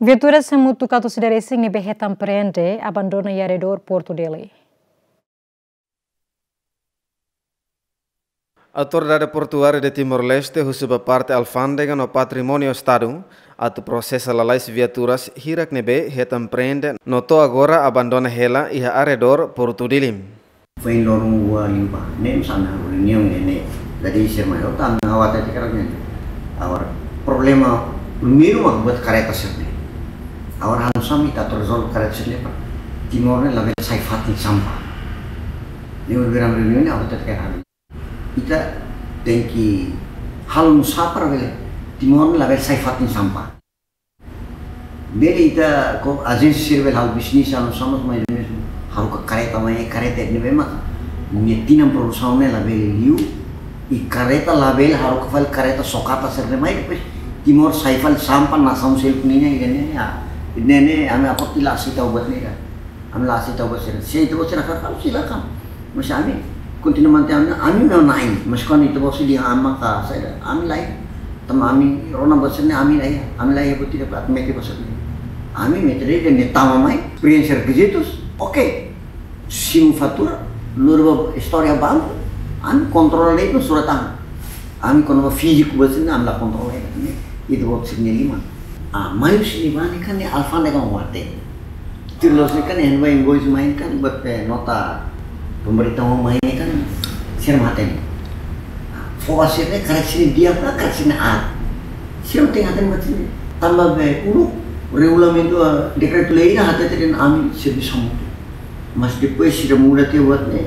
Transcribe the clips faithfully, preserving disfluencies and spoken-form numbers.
Viaturas hamutuk atus ida resin ne'ebé hetan prende abandona iha arredór Portu Dili. Autoridade Portuária de Timor-Leste husu ba parte alfándega no patrimóniu Estadu atu prosesa lalais viaturas hirak ne'ebé hetan prende no to'o agora abandona hela iha arredór Portu Dili. Foin loron rua liubá, ne'e mós ami reuniaun ne'e, ne'e. Jadi sira mai, oh, tang awat até kerap ne'e. Agora, problema primeiru mak buat kareta sira-ne'e. Agora, halo saida ita atu rezolve kareta sira-ne'e, para Timor ne'e labele sai fatin sampah. Ne'e berang reuniaun ne'e, awat até kerap. Ita tenke halo nusá para bele Timor ne'e labele sai fatin sampah. Bele ita ko ajénsia sira bele halo bisnis anu sama mais ou menos. Haruka kareta mai, kareta ne'ebé mak nia tinan produsaun ne'e labele liu. I kareta labele haruka fali kareta sokata sira-ne'e mai, depois Timor sai fali sampah nasaun seluk nian, ida-ne'e, ah. Ida-ne'e ami aporte la aseita buat ne'e. Ami la aseita buat sira. Se ita-boot sira hakarak, silakan. Mas ami kontinua mantein ami, ami na'in. Mas kuandu ita-boot sira dehan ami ka saida, ami la iha. Tanba ami rona buat sira-ne'e ami la iha. Ami la iha buat ida para mete buat sira-ne'e. Ami mete de'it ne'e tama mai, preenxe rekizitus, oke. Simu fatura, lori ba istória banku, ami kontrola de'it no surat tangan. Ami kona-ba fíziku buat sira-ne'e ami la kontrola de'it. Ita-boot sira-nia liman. Ah, mai husi ne'ebá ne'e kan ne'e alfándega mak hatene. Tuir loloos ne'e kan ne'e ba invoice mai ne'e kan buat, eh, nota pemberitahuan mai ne'e kan sira mak hatene. Fó ba sira ne'e karik sira-nia di'ak ka karik sira-nia aat. Sira mak tenke hatene buat sira-ne'e. Tanba be uluk regulamentu, ah, dekretu-lei ne'e hatete dehan ami servisu hamutuk. Mas depois sira muda tiha buat ne'e,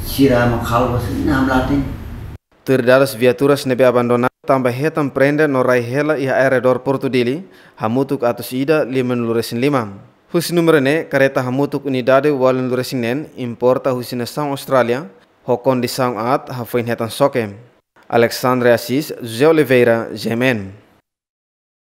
sira mak halo ba sira-ne'e, ami la hatene. Tuir dadus, viaturas ne'ebé abandona tanba hetan prende no rai hela iha arredór Portu Dili hamutuk atus ida limanulu resin lima. Husi númeru ne'e, kareta hamutuk unidade ualunulu resin neen importa husi nasaun Austrália, ho kondisaun aat hafoin hetan xoke. Alexandre Assis, José Oliveira, G M N.